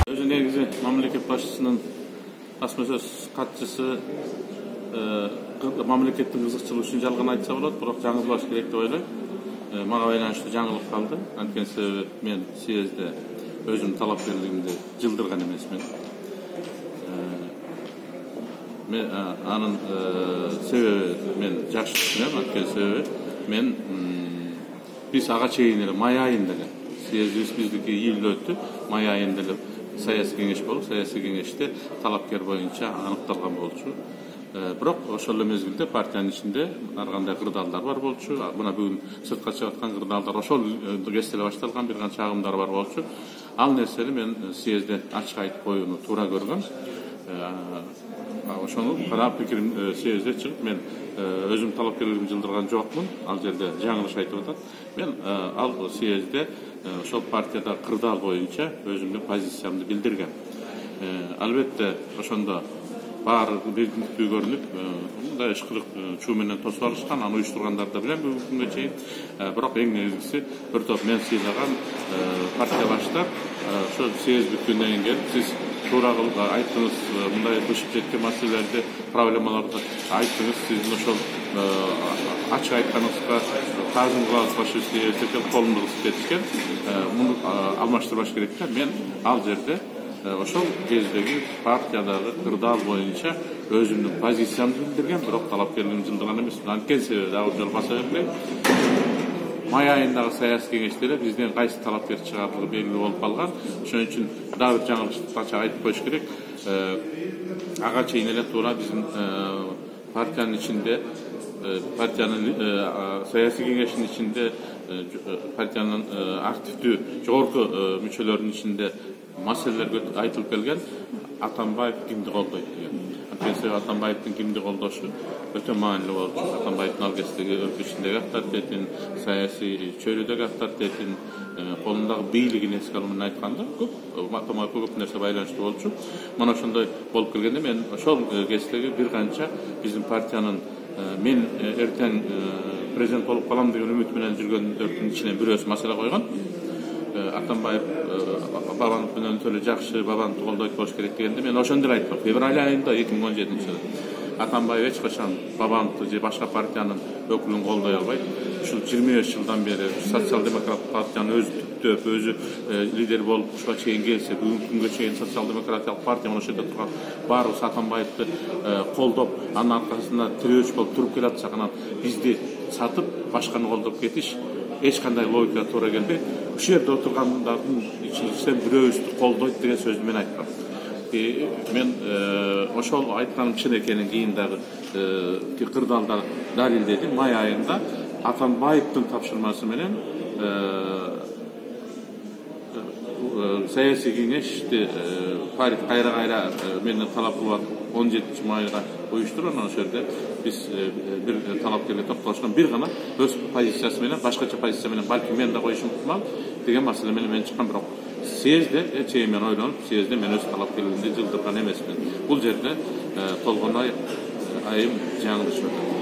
Өзü негизи мамлекет башчысынын асма сөз катчысы мамлекеттин кызыкчылыгы үчүн жалган айтса болот, бирок жаңылбаш керек деп ойлойм. Мага байланыштуу жаңылык калды. Анткени себеби мен съезде өзүмдүн талапкерлигимди жылдырган эмесмин. Мен анын себеби мен жакшы түшүнөм. Анткени себеби мен биз ага чейин эле май айында эле съездибиз биздики июлда өттү. Май айында эле саясий кеңеш болуп, саясий кеңеште талапкер боюнча аныкталган болчу. Бирок ошол эле мезгилде партиянын ичинде ар кандай кырдаалдар бар болчу. Мына бүгүн сыртка чыгып аткан кырдаалдар ошол кезде эле башталган, бир канча чагымдар бар болчу. Ал нерсени мен съезде ачык айтып коюуну туура көргөм. Ошону карап пикирим съезде чыгып мен өзүм талапкерлигимди жылдырган жокмун. Ал жерде жаңылыш айтып атат. Мен ал съезде ошол партияда кырдаал боюнча өзүмдүн позициямды билдиргем. Албетте ошондо баары бирдиктүү көрүнүп, мындай ышкырык чуу менен тосуп алышкан, аны уюштургандарды билем бүгүнкү күнгө чейин. Бирок эң негизгиси бир топ мен сыйлаган партия баштап ошо съезд бүткөндөн кийин сиз туура айттыңыз, мындай бышып жеткен маселелерди, проблемаларды айттыңыз. Сиздин ошол ачык айтканыңызга таазим кылабыз, фашистский эсептеп колумду кысып кетишкен. Муну алмаштырбаш керек да. Мен ал жерде ошол кездеги партиядагы кырдаал боюнча өзүмдүн позициямды билдиргем, бирок талапкерлигимди жылдырган эмесмин. Анткени себеби дагы бир жолу баса берейин. Май айындагы саясий кеңеште эле бизден кайсы талапкер чыгаарлыгы белгилүү болуп калган. Ошон үчүн дагы бир жаңылышты айтып коюш керек. Ага чейин эле туура биздин партиянын ичинде, партиянын саясий кеңештин ичинде, партиянын активдүү жогорку мүчөлөрүнүн ичинде маселелер айтылып келген. Атамбаев кимди колдойт деген. Анткени Атамбаевдин кимди колдошу өтө маанилүү болчу. Атамбаевдин ал кездеги өлкө ичиндеги авторитетин, саясий чөйрөдөгү авторитетин, колундагы бийлигин эске алуу менен айтканда Атамбаев көп нерсе байланыштуу болчу. Мына ошондой болуп келгенде мен ошол кездеги бир канча биздин партиянын мен эртең президент болуп калам деген үмүт менен жүргөндөрдүн ичинен бирөөсү маселе койгон. Атамбаев Бабанов менен төлө жакшы, Бабановду колдойт болуш керек дегенде мен ошондой айттым. Февраль айында 2017-жылы Атамбаев эч качан Бабановду же башка партиянын өкүлүн колдой албайт. Ушул 25 жылдан бери социал-демократ партиянын өзү түптөп, өзү лидер болуп ушуга чейин келсе, бүгүнкү күнгө чейин социал-демократиялык партия ошол жерде турган баарыбыз Атамбаевди колдоп, анын аркасында тирөөч болуп туруп келатсак, анан бизди сатып башканы колдоп кетиш эч кандай логика туура келбейт. Ушул жерде отургандардын ичинен бирөөбүздү колдойт деген сөздү мен айткам. Мен ошол айтканым чын экенин кийин дагы кырдаалда далилдедим. Май айында Атамбаевдин тапшырмасы менен саясий кеңешти кайра менден талап кылып 17-майга уюштуруп, анан ошол жерде биз бир талапкерге токтолушкан, бир гана өз позициясы менен, башкача позиция менен балки мен да коюшум ыктымал деген маселе менен мен чыккан. Бирок съезде чейин мен ойлонуп, съезде мен өз талапкерлигимди жылдырган эмесмин. Бул жерде толгон айым жаңылыш өтөт.